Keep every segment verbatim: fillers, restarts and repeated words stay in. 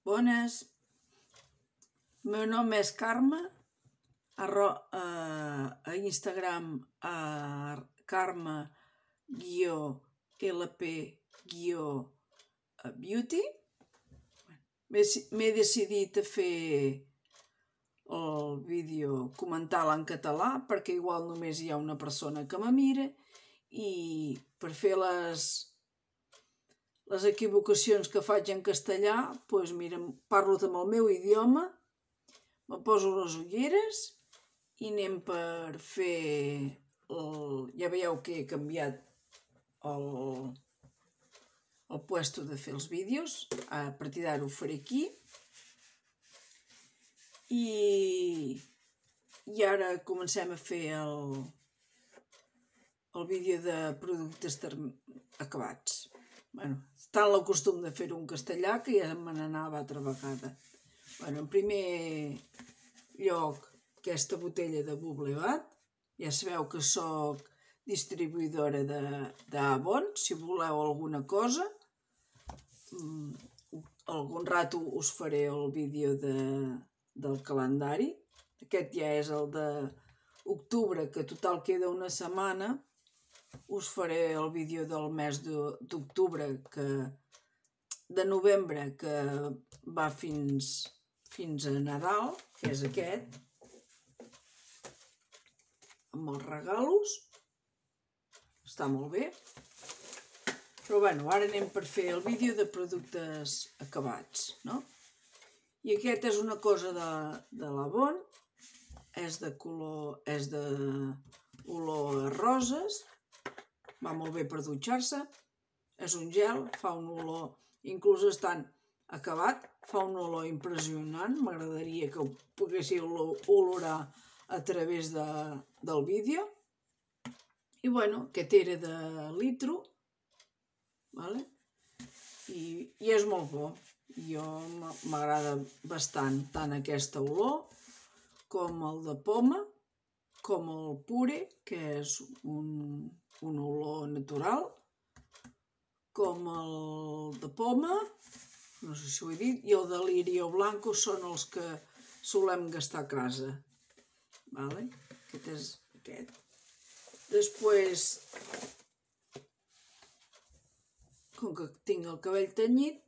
Bones, el meu nom és Carme, a, a, a Instagram a Carme L P Beauty. M'he decidit a fer el vídeo comentar-la en català perquè igual només hi ha una persona que me mira i per fer les, les equivocacions que faig en castellà, doncs mira, parlo amb el meu idioma, me poso les ulleres i anem per fer, el, ja veieu que he canviat el, el puesto de fer els vídeos, a partir d'ara ho faré aquí. I, i ara comencem a fer el, el vídeo de productes acabats. Bueno, tant el costum de fer-ho en castellà que ja me n'anava altra vegada. Bueno, en primer lloc, aquesta botella de Bubblebath. Ja sabeu que sóc distribuïdora d'Avon, si voleu alguna cosa. Algun rato us faré el vídeo de, del calendari. Aquest ja és el d'octubre, que total queda una setmana. Us faré el vídeo del mes d'octubre, de novembre, que va fins, fins a Nadal, que és aquest, amb els regalos. Està molt bé. Però bueno, ara anem per fer el vídeo de productes acabats, no? I aquest és una cosa de, de l'Avon, és de color, és de olor a roses, va molt bé per dutxar-se, és un gel, fa un olor, inclús estant acabat, fa un olor impressionant, m'agradaria que ho poguéssiu olorar a través de, del vídeo. I bueno, aquest era de litro, vale? I, i és molt bo. Jo m'agrada bastant tant aquesta olor com el de poma, com el pure, que és un, un olor natural, com el de poma, no sé si ho he dit, i el de lirio blanco són els que solem gastar a casa. Vale? Aquest és aquest. Després, com que tinc el cabell tenyit,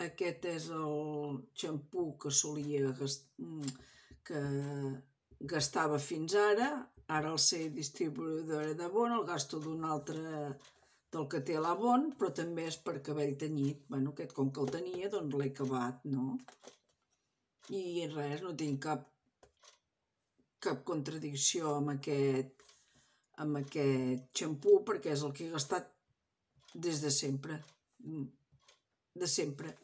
aquest és el xampú que solia gastar, que gastava fins ara. Ara al ser distribuïdora d'Avon el gasto d'un altre del que té l'Avon, però també és per cabell tenyit. Bueno, aquest com que el tenia, doncs l'he acabat, no? I res, no tinc cap, cap contradicció amb aquest, amb aquest xampú, perquè és el que he gastat des de sempre. De sempre.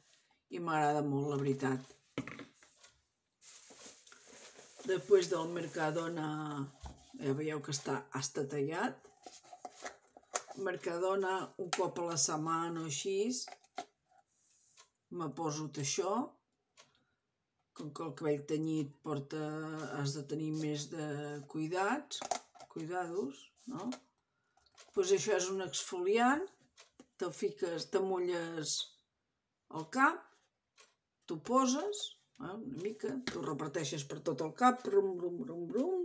I m'agrada molt, la veritat. Després del Mercadona, ja veieu que està hasta tallat. Mercadona, un cop a la setmana o així, me poso això. Com que el cabell tenyit porta, has de tenir més de cuidats, cuidados, no? Doncs això és un exfoliant, te'l fiques, t'amolles al cap, t'ho poses, eh, una mica, t'ho reparteixes per tot el cap, brum, brum, brum, brum,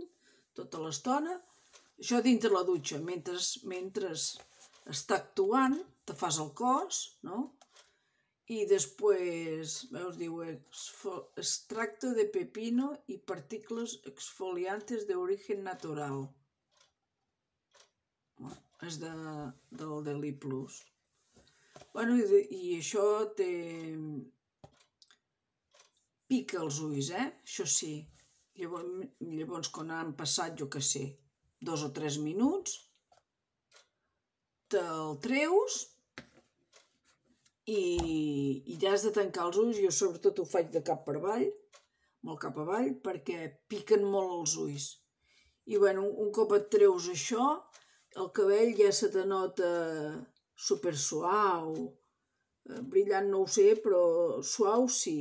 tota l'estona. Això dintre la dutxa, mentre, mentre està actuant, te fas el cos, no? I després, veus, diu extracto de pepino i partícules exfoliantes de origen natural. És de, del Deli Plus. Bueno, i, i això té... pica els ulls, eh? Això sí. Llavors, llavors quan han passat, jo què sé, dos o tres minuts, te'l treus i, i ja has de tancar els ulls. Jo sobretot ho faig de cap per avall, amb el cap avall, perquè piquen molt els ulls. I bueno, un cop et treus això, el cabell ja se te nota super suau, brillant no ho sé, però suau sí.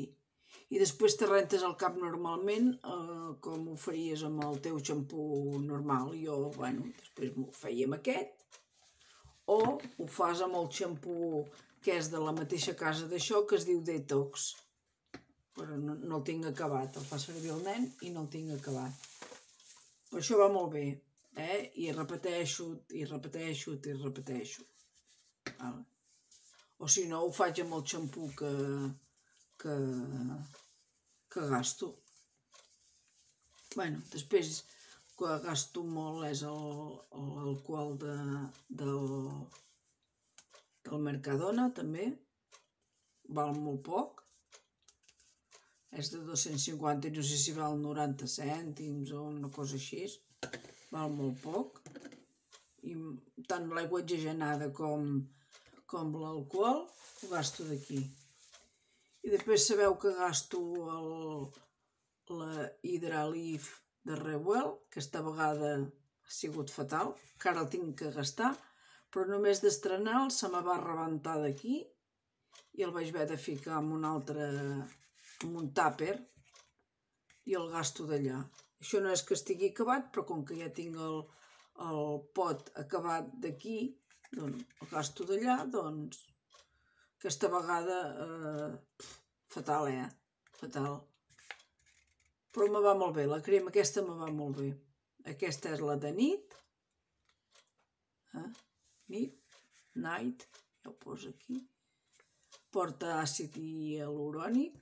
I després te rentes el cap normalment, eh, com ho faries amb el teu xampú normal. Jo, bueno, després m'ho feia amb aquest, o ho fas amb el xampú que és de la mateixa casa d'això, que es diu Detox. però no, no el tinc acabat. El fa servir el nen i no el tinc acabat. Però això va molt bé, eh? I repeteixo, i repeteixo, i repeteixo. Vale. O si no, ho faig amb el xampú que, que, que gasto. Bueno, després que gasto molt és l'alcohol de, del, del Mercadona, també. Val molt poc. És de dos-cents cinquanta i no sé si val noranta cèntims o una cosa així. Val molt poc. I tant l'aigua oxigenada com, com l'alcohol ho gasto d'aquí. I després sabeu que gasto el, la Hidraleaf de Rewell, que esta vegada ha sigut fatal, que ara el tinc que gastar, però només d'estrenar-lo se me va rebentar d'aquí i el vaig haver de ficar en un altre, en un tàper i el gasto d'allà. Això no és que estigui acabat, però com que ja tinc el, el pot acabat d'aquí, doncs el gasto d'allà, doncs aquesta vegada eh, fatal, eh? Fatal. Però me va molt bé, la crema aquesta me va molt bé. Aquesta és la de nit. Eh? Nit, night, ja ho poso aquí. Porta àcid hialurònic.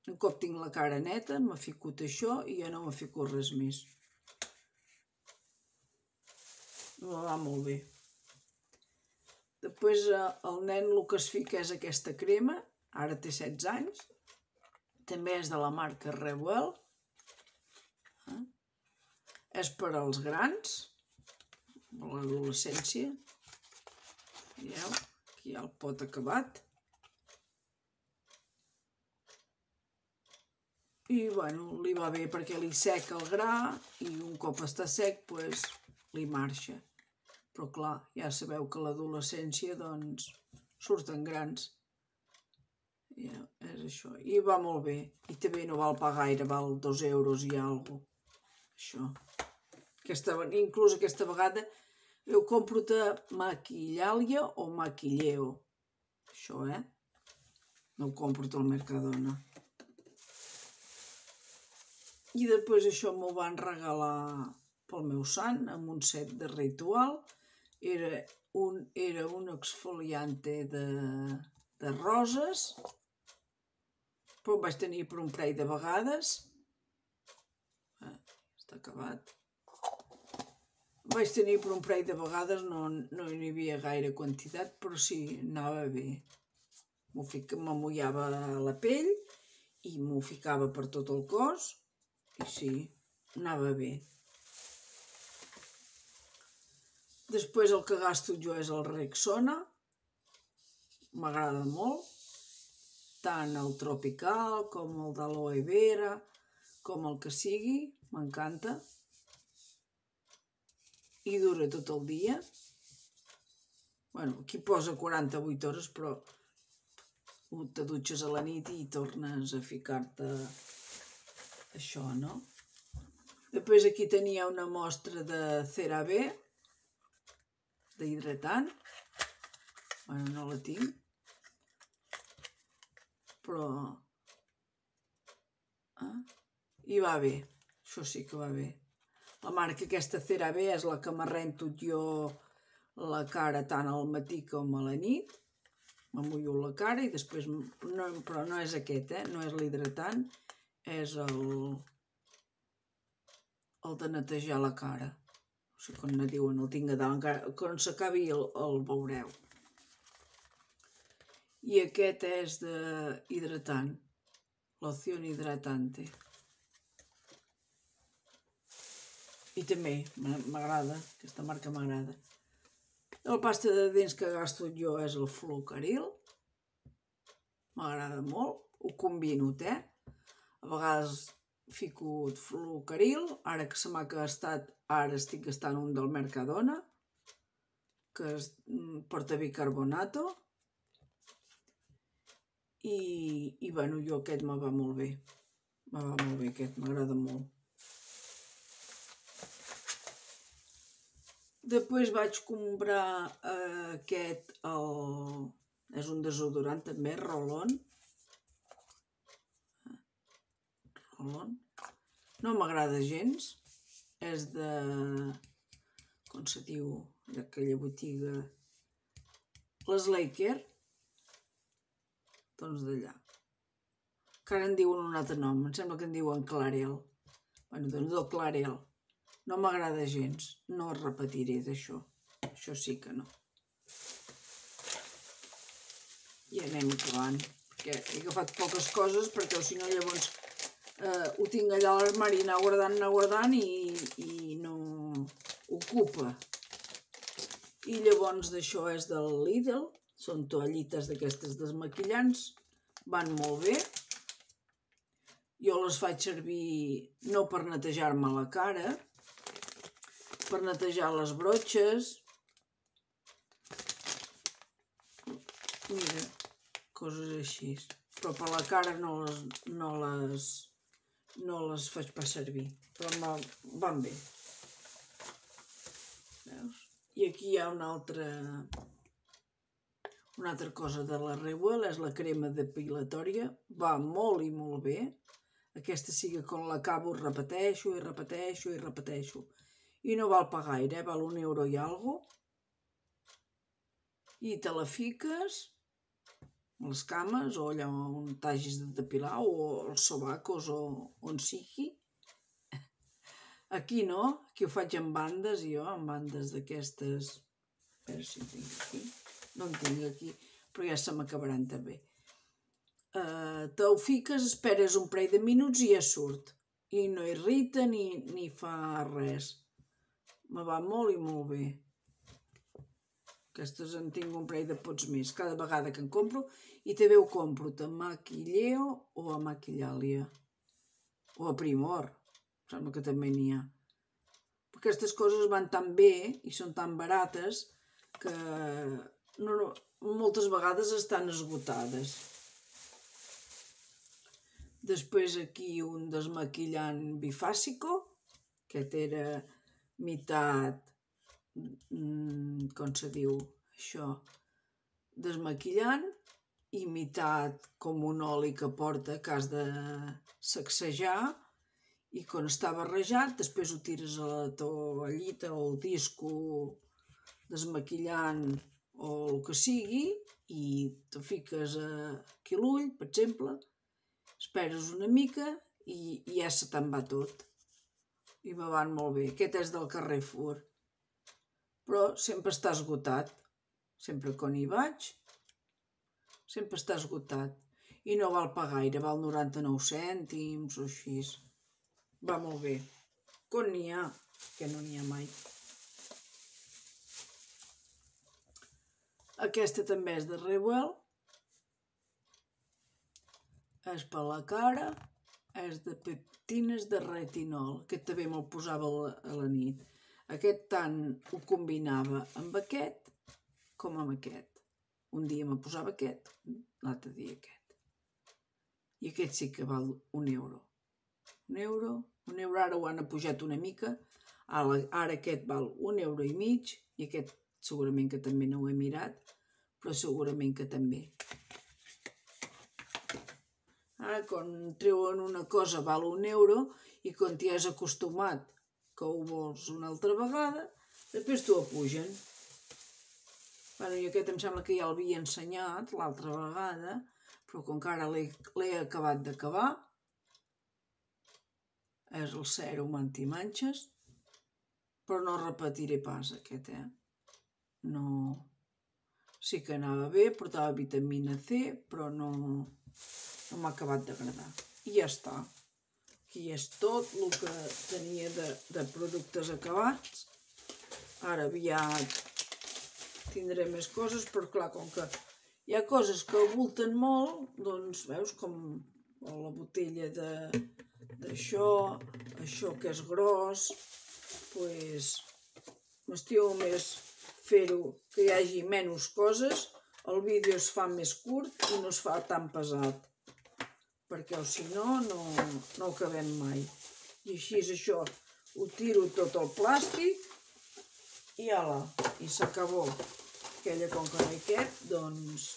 Un cop tinc la cara neta, m'ha ficat això i ja no m'ha ficat res més. Me va molt bé. Després el nen el que es fica és aquesta crema. Ara té setze anys. També és de la marca Rewell. Eh? És per als grans, a l'adolescència. Veieu? Aquí hi ha el pot acabat. I, bueno, li va bé perquè li seca el gra i un cop està sec, doncs, li marxa. Però, clar, ja sabeu que a l'adolescència, doncs, surten grans. Ja, és això. I va molt bé. I també no val pagar gaire, val dos euros i alguna cosa. Això. Aquesta, inclús aquesta vegada ho compro de Maquillalia o Maquilleo. Això, eh? No ho compro del Mercadona. I després això m'ho van regalar pel meu sant, amb un set de ritual. Era un, era un exfoliante de, de roses, però ho vaig tenir per un parell de vegades. Eh, està acabat. Ho vaig tenir per un parell de vegades, no, no hi havia gaire quantitat, però sí, anava bé. M'amullava la pell i m'ho ficava per tot el cos. I sí, anava bé. Després el que gasto jo és el Rexona. M'agrada molt. Tant el tropical com el d'aloe vera, com el que sigui. M'encanta. I dura tot el dia. Bueno, aquí posa quaranta-vuit hores, però te dutxes a la nit i tornes a ficar-te això, no? Després aquí tenia una mostra de CeraVe, d'hidratant. Bueno, no la tinc. Però... Eh? I va bé. Això sí que va bé. La marca aquesta CeraVe és la que m'arrento jo la cara tant al matí com a la nit. M'amullo la cara i després... No, però no és aquest, eh? No és l'hidratant. És el... el de netejar la cara. No sé com ne diuen, el tinc a dalt. Encara, quan s'acabi el, el veureu. I aquest és de hidratant. Loción hidratante. I també m'agrada, aquesta marca m'agrada. El pasta de dents que gasto jo és el Flucaril. M'agrada molt. Ho combino, eh? A vegades fico Flucaril. Ara que se m'ha gastat, ara estic gastant un del Mercadona, que es porta bicarbonato. I, i bueno, jo aquest me va molt bé. Me va molt bé aquest, m'agrada molt. Després vaig comprar eh, aquest, el, és un desodorant també, Roll-On. marlon. No m'agrada gens. És de... com se diu? D'aquella botiga... Les Laker. Doncs d'allà. Que ara en diuen un altre nom. Em sembla que en diuen Clarel. Bueno, doncs del Clarel. No m'agrada gens. No es repetiré d'això. Això sí que no. I anem acabant. Perquè he agafat poques coses, perquè si no llavors eh, ho tinc allà a l'armari, anar guardant, anar guardant i, i no ocupa. I llavors d'això és del Lidl, són toallites d'aquestes desmaquillants, van molt bé. Jo les faig servir no per netejar-me la cara, per netejar les brotxes. Mira, coses així. Però per la cara no les, no les, no les faig pas servir, però van bé. Veus? I aquí hi ha una altra, una altra cosa de la Rewell, és la crema depilatòria. Va molt i molt bé. Aquesta sí que quan l'acabo repeteixo i repeteixo i repeteixo. I no val pagar gaire, val un euro i algo. I te la fiques a les cames o allà on t'hagis de depilar o als sobacos o on sigui. Aquí no, aquí ho faig en bandes, jo, en bandes d'aquestes. A veure si en tinc aquí. No en tinc aquí, però ja se m'acabaran també. Uh, te ho fiques, esperes un parell de minuts i ja surt. I no irrita ni, ni fa res. Me va molt i molt bé. Aquestes en tinc un parell de pots més, cada vegada que en compro. I també ho compro a Maquilleo o a Maquillalia. O a Primor. Em sembla que també n'hi ha. Aquestes coses van tan bé i són tan barates que no, no, moltes vegades estan esgotades. Després aquí un desmaquillant bifàsico. Aquest era meitat, com se diu això, desmaquillant i meitat com un oli que porta que has de sacsejar i quan està barrejat després ho tires a la toallita o al disco desmaquillant o el que sigui i te fiques aquí l'ull, per exemple, esperes una mica i ja se te'n va tot. I me van molt bé. Aquest és del Carrefour. Però sempre està esgotat. Sempre quan hi vaig, sempre està esgotat. I no val pagar gaire, val noranta-nou cèntims o així. Va molt bé. Quan n'hi ha, que no n'hi ha mai. Aquesta també és de Rewell. És per la cara. És de peptines de retinol. Aquest també me'l posava a la nit. Aquest tant ho combinava amb aquest com amb aquest. Un dia me posava aquest, l'altre dia aquest. I aquest sí que val un euro. Un euro, un euro, ara ho han apujat una mica. Ara aquest val un euro i mig i aquest segurament que també no ho he mirat, però segurament que també. Ara, quan treuen una cosa val un euro i quan t'hi has acostumat que ho vols una altra vegada, després t'ho apugen. Bueno, i aquest em sembla que ja l'havia ensenyat l'altra vegada, però com que ara l'he acabat d'acabar, és el sèrum antimanxes, però no repetiré pas aquest, eh? No... Sí que anava bé, portava vitamina C, però no... no m'ha acabat d'agradar. I ja està. Aquí és tot el que tenia de, de productes acabats. Ara aviat tindré més coses, però clar, com que hi ha coses que abulten molt, doncs veus com la botella d'això, això que és gros, doncs m'estimo més fer-ho que hi hagi menys coses, el vídeo es fa més curt i no es fa tan pesat. Perquè si no, no ho acabem mai. I així és això, ho tiro tot el plàstic i ala, i s'acabó. Aquella com que no hi cap, doncs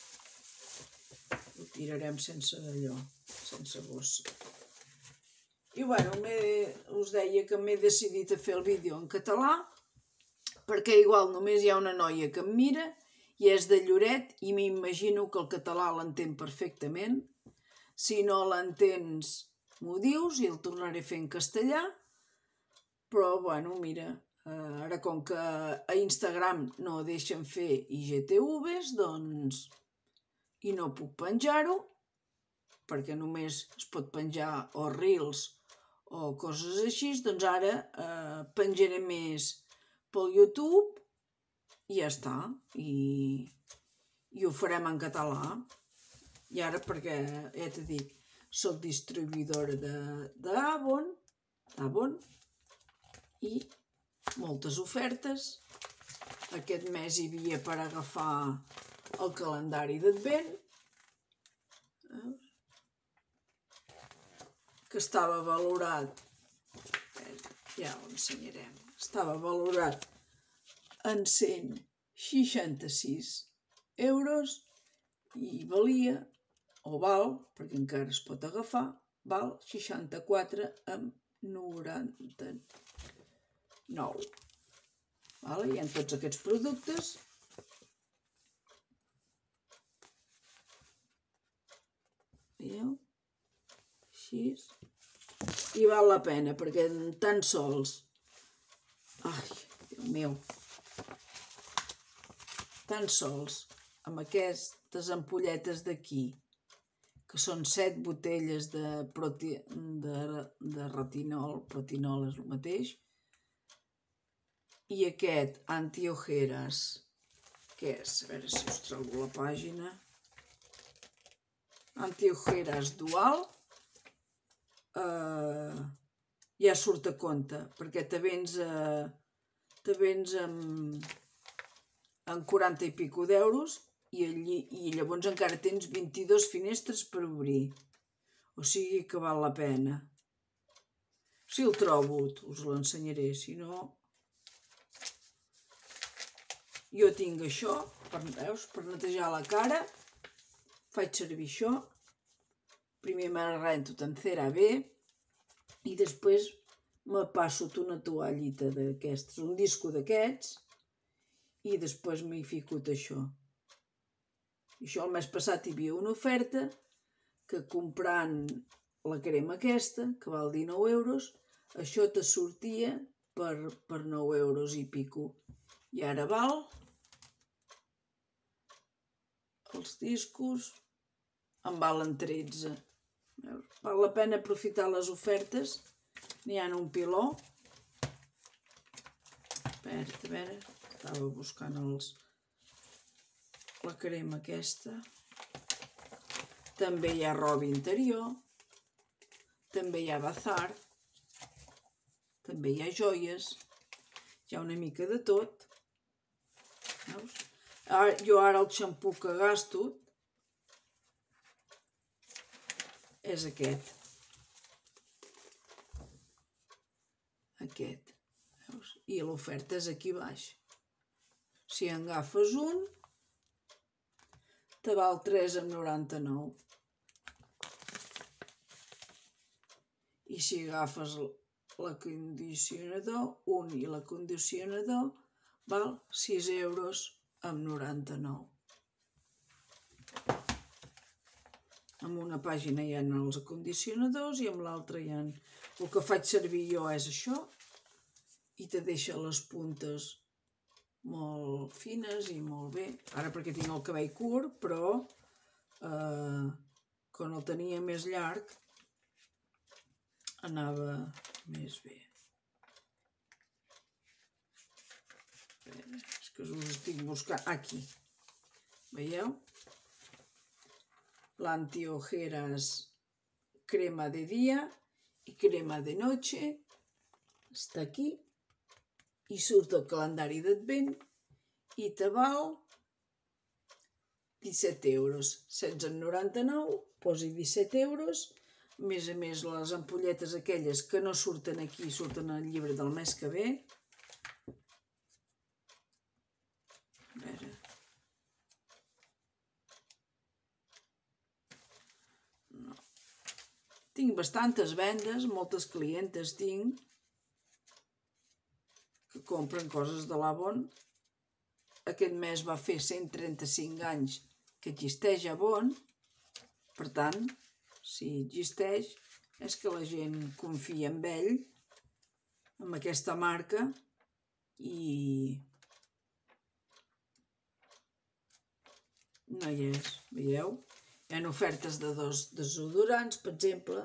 ho tirarem sense allò, sense bossa. I bueno, us deia que m'he decidit a fer el vídeo en català, perquè igual només hi ha una noia que em mira i és de Lloret i m'imagino que el català l'entén perfectament. Si no l'entens, m'ho dius i el tornaré a fer en castellà. Però, bueno, mira, ara com que a Instagram no deixen fer I G T Vs, doncs, i no puc penjar-ho, perquè només es pot penjar o Reels o coses així, doncs ara eh, penjaré més pel YouTube i ja està. I, i ho farem en català. I ara, perquè ja t'he dit, soc distribuïdora d'Avon, d'Avon, i moltes ofertes. Aquest mes hi havia per agafar el calendari d'Advent, que estava valorat, ja ho ensenyarem, estava valorat en cent seixanta-sis euros i valia, o val, perquè encara es pot agafar, val seixanta-quatre amb noranta-nou. Hi ha tots aquests productes. Veieu? Així. I val la pena, perquè tan sols... Ai, Déu meu! Tan sols amb aquestes ampolletes d'aquí, que són set botelles de retinol, protinol és el mateix, i aquest antiojeres, que és, a veure si us trobo la pàgina, antiojeres dual, ja surt a compte, perquè te vens en quaranta i pico d'euros i llavors encara tens vint-i-dues finestres per obrir. O sigui que val la pena. Si el trobo, us l'ensenyaré, si no... Jo tinc això, veus, per netejar la cara, faig servir això, primer me rento en CeraVe i després me passo una toallita d'aquestes, un disco d'aquests, i després m'hi fico això. Això el mes passat hi havia una oferta que comprant la crema aquesta, que val dinou euros, això te sortia per nou euros i pico. I ara val, els discos en valen tretze. Val la pena aprofitar les ofertes, n'hi ha un piló. Espera, a veure, estava buscant la crema aquesta. També hi ha roba interior, també hi ha bazar, també hi ha joies, hi ha una mica de tot. Veus? Jo ara el xampú que gasto és aquest. Aquest. Veus? I l'oferta és aquí baix. Si en agafes un, te val tres coma noranta-nou. I si agafes l'acondicionador, un i l'acondicionador, val sis euros amb noranta-nou. En una pàgina hi ha els acondicionadors i en l'altra hi ha... El que faig servir jo és això i te deixa les puntes molt fines i molt bé. Ara perquè tinc el cabell curt, però quan el tenia més llarg anava més bé. És que us estic buscant aquí. Veieu? L'antiojeres crema de dia i crema de noche està aquí i surt el calendari d'Advent i te val disset euros. setze coma noranta-nou, posi disset euros. A més a més, les ampolletes aquelles que no surten aquí, surten al llibre del mes que ve. A veure... Tinc bastantes vendes, moltes clientes tinc que compren coses de l'Avon. Aquest mes va fer cent trenta-cinc anys que existeix Avon. Per tant, si existeix, és que la gent confia en ell, en aquesta marca, i no hi és, veieu? Hi ha ofertes de dos desodorants, per exemple,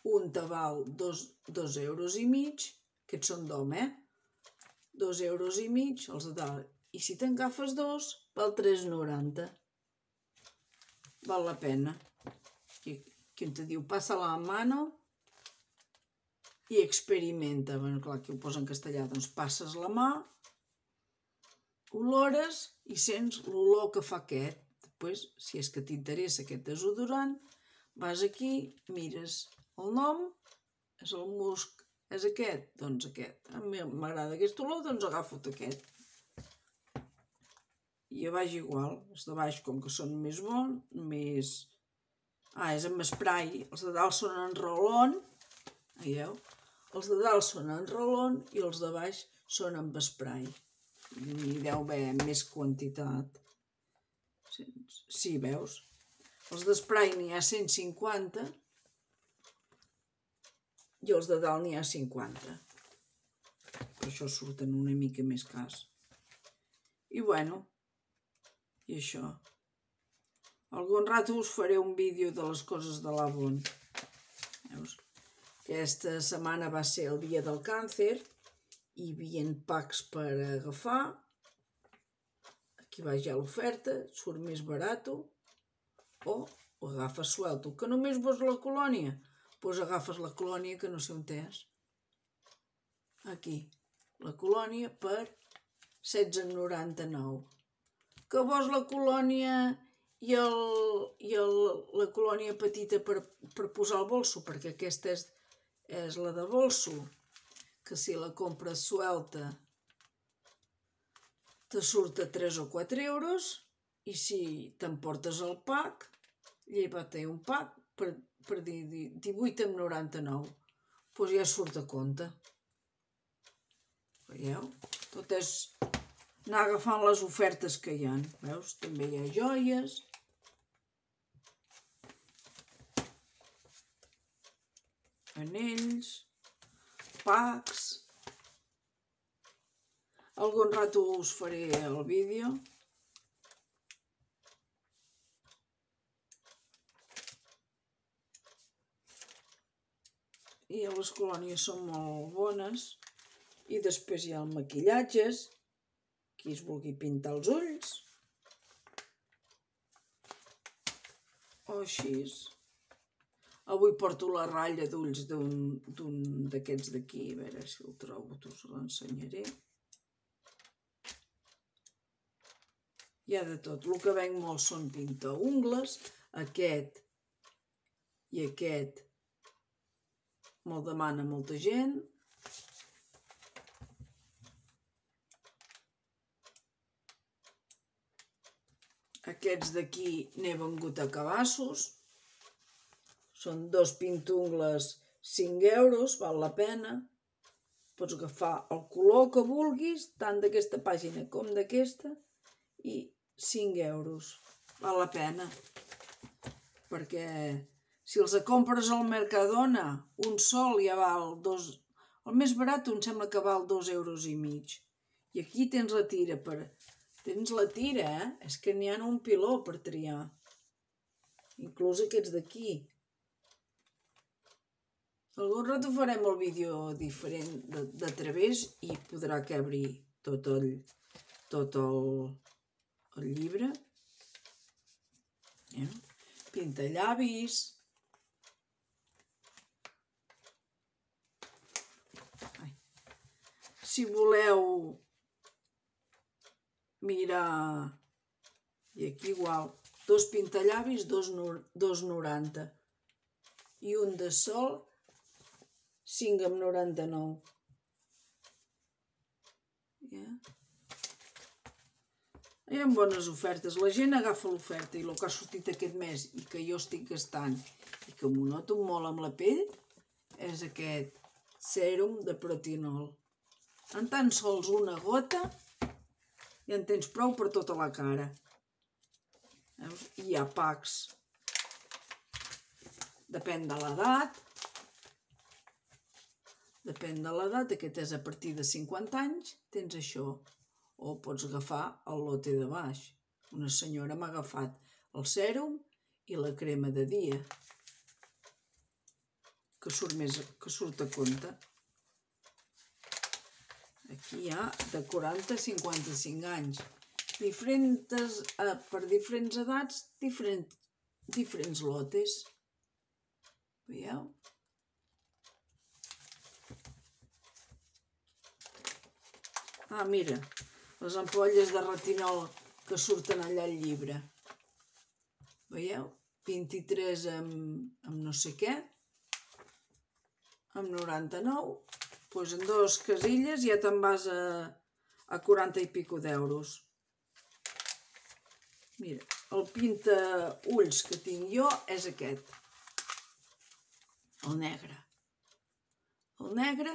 un te val dos, dos euros i mig, aquests són d'home, eh? Dos euros i mig, els de dalt, i si te'n agafes dos, val tres noranta. Val la pena. Aquí, aquí on te diu, passa la mano i experimenta. Bueno, clar, aquí ho posa en castellà, doncs passes la mà, olores i sents l'olor que fa aquest. Després, si és que t'interessa aquest desodorant, vas aquí, mires el nom, és el musc, és aquest, doncs aquest. A mi m'agrada aquest olor, doncs agafo aquest. I a baix igual, els de baix com que són més bons, més... Ah, és amb spray, els de dalt són en roll-on, veieu? Els de dalt són en roll-on i els de baix són amb spray. N'hi deu haver més quantitat. Sí, veus? Els d'esprai n'hi ha cent cinquanta i els de dalt n'hi ha cinquanta. Per això surten una mica més cars. I bueno, i això. Algun rato us faré un vídeo de les coses de l'Avon. Veus? Aquesta setmana va ser el dia del càncer. Hi havia packs per agafar. Aquí baix hi ha l'oferta, surt més barat. O ho agafes suelto. Que només vols la colònia? Doncs agafes la colònia que no sé on és. Aquí. La colònia per setze noranta-nou. Que vols la colònia i, el, i el, la colònia petita per, per posar al bolso? Perquè aquesta és, és la de bolso. Que si la compres suelta te surt a tres o quatre euros i si t'emportes el pack, lleva té un pack per, per divuit amb noranta-nou. Doncs ja surt a compte. Veieu? Tot és anar agafant les ofertes que hi ha. Veus? També hi ha joies. Anells. Packs. Algun rato us faré el vídeo. I les colònies són molt bones. I després hi ha els maquillatges. Qui es vulgui pintar els ulls. O així. Avui porto la ratlla d'ulls d'un d'aquests d'aquí. A veure si el trobo, us l'ensenyaré. Hi ha de tot. El que venc molt són pintaungles. Aquest i aquest me'l demana molta gent. Aquests d'aquí n'he vengut a cabassos. Són dos pintungles, cinc euros, val la pena. Pots agafar el color que vulguis, tant d'aquesta pàgina com d'aquesta, i cinc euros. Val la pena. Perquè si els compres al Mercadona, un sol ja val dos... El més barat em sembla que val dos euros i mig. I aquí tens la tira per... Tens la tira, eh? És que n'hi ha un piló per triar. Inclús aquests d'aquí. Algun rato farem el vídeo diferent de, de través i podrà cabre tot el, tot el, el llibre. Eh? Pintallavis. Ai. Si voleu mirar, i aquí igual, dos pintallavis, dos noranta. I un de sol, cinc amb noranta-nou. Ja. Hi ha bones ofertes. La gent agafa l'oferta i el que ha sortit aquest mes i que jo estic gastant i que m'ho noto molt amb la pell és aquest sèrum de protinol. En tan sols una gota ja en tens prou per tota la cara. Veus? Hi ha packs. Depèn de l'edat. Depèn de l'edat. Aquest és a partir de cinquanta anys. Tens això. O pots agafar el lote de baix. Una senyora m'ha agafat el sèrum i la crema de dia. Que surt, més, que surt a compte. Aquí hi ha de quaranta a cinquanta-cinc anys. Diferents, eh, per diferents edats, diferents, diferents lotes. Veieu? Ah, mira, les ampolles de retinol que surten allà al llibre. Veieu? vint-i-tres amb, amb no sé què, amb noranta-nou. Doncs en dues casilles ja te'n vas a, a quaranta i pico d'euros. Mira, el pinta-ulls que tinc jo és aquest. El negre. El negre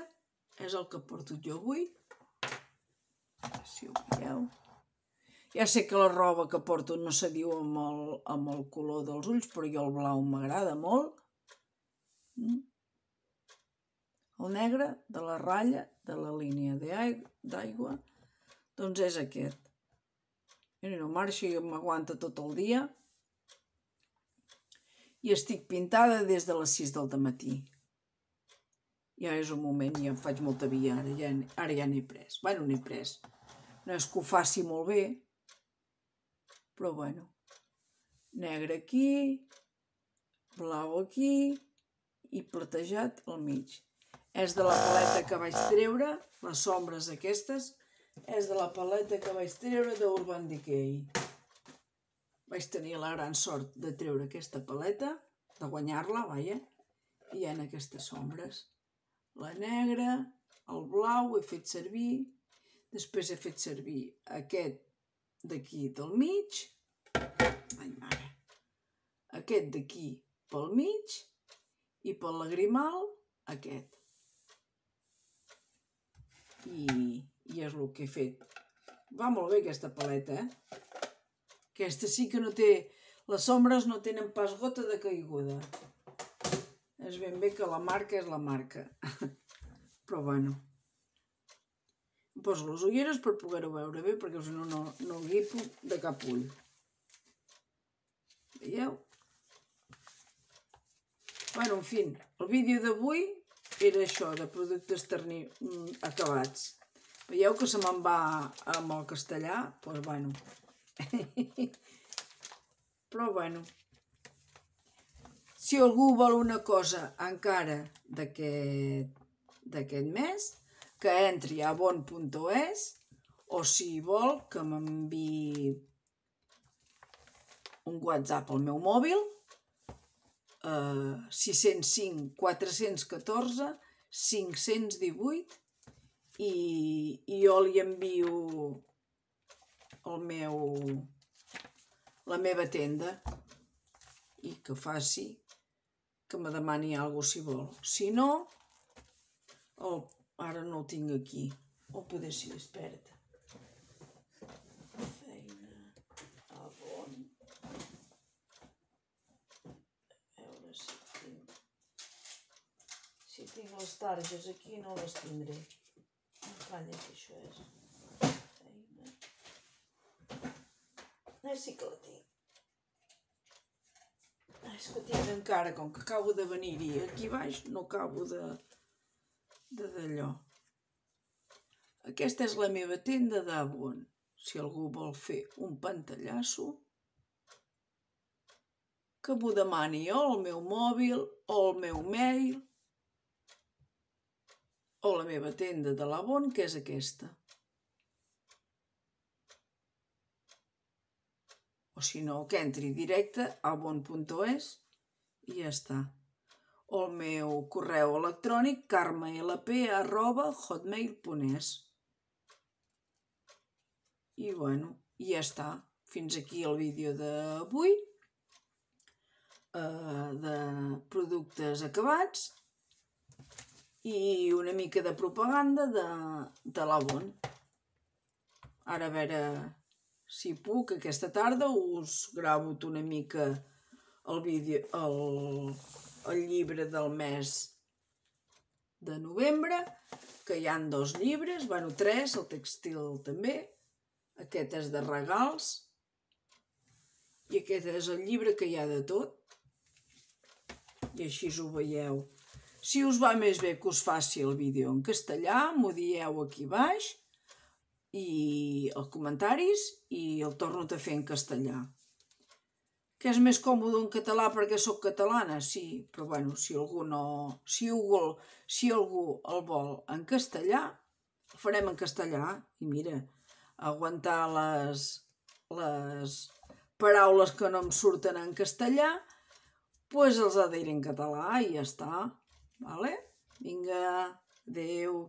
és el que porto jo avui. Si ho veieu. Ja sé que la roba que porto no s'adiu amb el, amb el color dels ulls, però jo el blau m'agrada molt. Mm. El negre de la ratlla de la línia d'aigua, doncs és aquest. Mira, no marxa i m'aguanta tot el dia. I estic pintada des de les sis del matí. Ja és un moment, ja em faig molta via, ara ja, ara ja n'he pres. Bueno, n'he pres. No és que ho faci molt bé, però bueno. Negre aquí, blau aquí i platejat al mig. És de la paleta que vaig treure, les sombres aquestes, és de la paleta que vaig treure d'Urban Decay. Vaig tenir la gran sort de treure aquesta paleta, de guanyar-la, vaja, i hi ha aquestes sombres. La negra, el blau he fet servir, després he fet servir aquest d'aquí del mig, ai mare, aquest d'aquí pel mig i pel lagrimal aquest. I, i és el que he fet. Va molt bé aquesta paleta, eh? Aquesta sí que no té... Les sombres no tenen pas gota de caiguda. És ben bé que la marca és la marca. Però bueno. Em poso les ulleres per poder-ho veure bé, perquè si no, no, no guipo de cap ull. Veieu? Bueno, en fi, el vídeo d'avui era això, de productes acabats. Veieu que se me'n va amb el castellà? Doncs bueno. Però bueno. Si algú vol una cosa encara d'aquest mes, que entri a bon punt es, o si vol que m'enviï un WhatsApp al meu mòbil, sis zero cinc quatre un quatre cinc un vuit, i jo li envio el meu, la meva tenda i que faci, que me demani alguna cosa si vol. Si no, oh, ara no el tinc aquí, o poder ser experta. Feina, a bon. A veure si tinc... Si tinc les targes aquí no les tindré. No calla que això és. Feina. Ah, sí que la tinc. És que tinc encara, com que acabo de venir-hi aquí baix, no acabo de d'allò. Aquesta és la meva tenda d'Avon. Si algú vol fer un pantallasso, que m'ho demani o al meu mòbil, o al meu mail, o la meva tenda de l'Avon, que és aquesta. O si no, que entri directe a bon punt es i ja està. O el meu correu electrònic carmelp arroba hotmail punt es. I bueno, i ja està. Fins aquí el vídeo d'avui, de productes acabats i una mica de propaganda de l'Avon. Ara a veure si puc, aquesta tarda us gravo una mica el vídeo, el llibre del mes de novembre, que hi ha dos llibres, bueno, tres, el tèxtil també, aquest és de regals i aquest és el llibre que hi ha de tot, i així ho veieu. Si us va més bé que us faci el vídeo en castellà, m'ho dieu aquí baix i els comentaris i el torno a fer en castellà. Que és més còmode en català perquè sóc catalana? Sí, però bueno, si algú no... Si algú el vol en castellà, el farem en castellà. I mira, aguantar les paraules que no em surten en castellà, doncs els ha de dir en català i ja està. Vinga, adeu.